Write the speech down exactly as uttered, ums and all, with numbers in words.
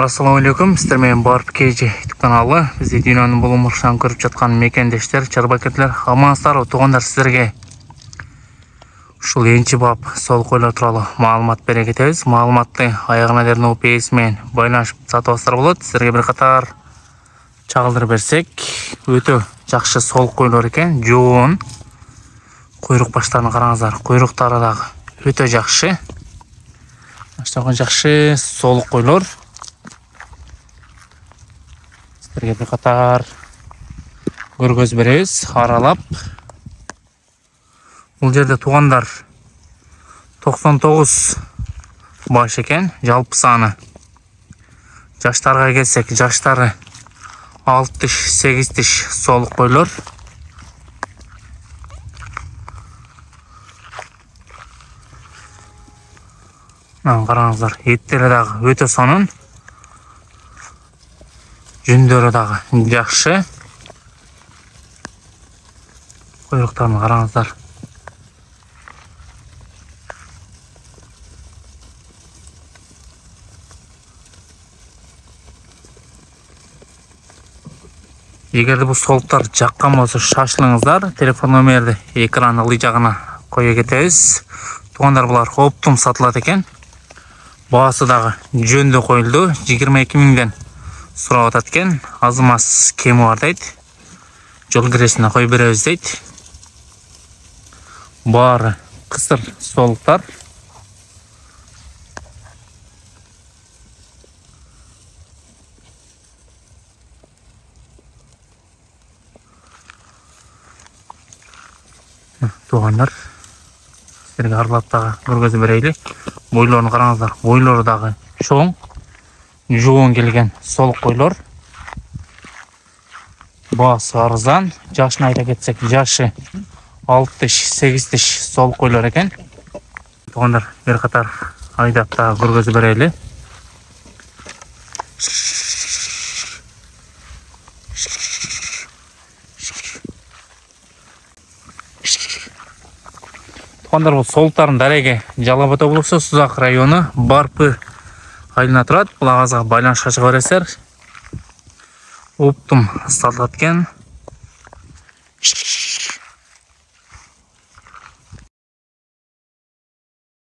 Assalamu alaikum. Sizler men Barp Keji YouTube kanalı. Bizi dünyanın bulunmuşan көрүп жаткан мекендештер, чарбакеттер, амансыздар, туугандар, сіздерге ушул энчи бап сол койлор тууралуу маалымат бере кетебиз. Маалыматты аягына дейин O P S менен байланышып сатып алсаңыздар болот. Сіздерге бир катар чагылдырып берсек, өтө жакшы сол койлор экен. Жоон куйрук баштарын караңыздар. Куйруктары дагы өтө жакшы. Баштагы жакшы сол койлор. Сіздерге bir катар көргөз беребиз, аралап. Бул жерде туугандар токсон тогуз баш экен, жалпы саны. Жаштарга келсек, жаштары алты тиш, сегиз тиш сол койлор. Мына караңыздар, эттери дагы өтө сонун. Жүндөрү дагы жакшы. Куйруктарын караңыздар. Эгерде бул солуктар жаккан болсо шашылыңыздар. Телефон номерди экрандын ылдый жагына кое кетебиз. Туугандар, булар оптум сатылат экен. Баасы дагы жөндө коюлду. жыйырма эки миңден сурап атат экен. Аз маз кеми бар дейт. Жол киресине коюп беребиз дейт. Баары кысыр солуктар. Туугандар, сіздерге аралап дагы көргөзүп берейли. Бойлорун караңыздар. Бойлору дагы чоң, жоон келген сол койлор. Баасы арзан. Жашын айта кетсек, жашы алты тиш, сегиз тиш сол койлор экен. Туугандар, бир катар айдап дагы көргөзүп берейли. Туугандар, бул солуктардын дареги Жалал Абад облусу, Сузак району, Барпы айылына турат. Бул агазга байланышка чыга бересиздер. Оптум сатылат экен.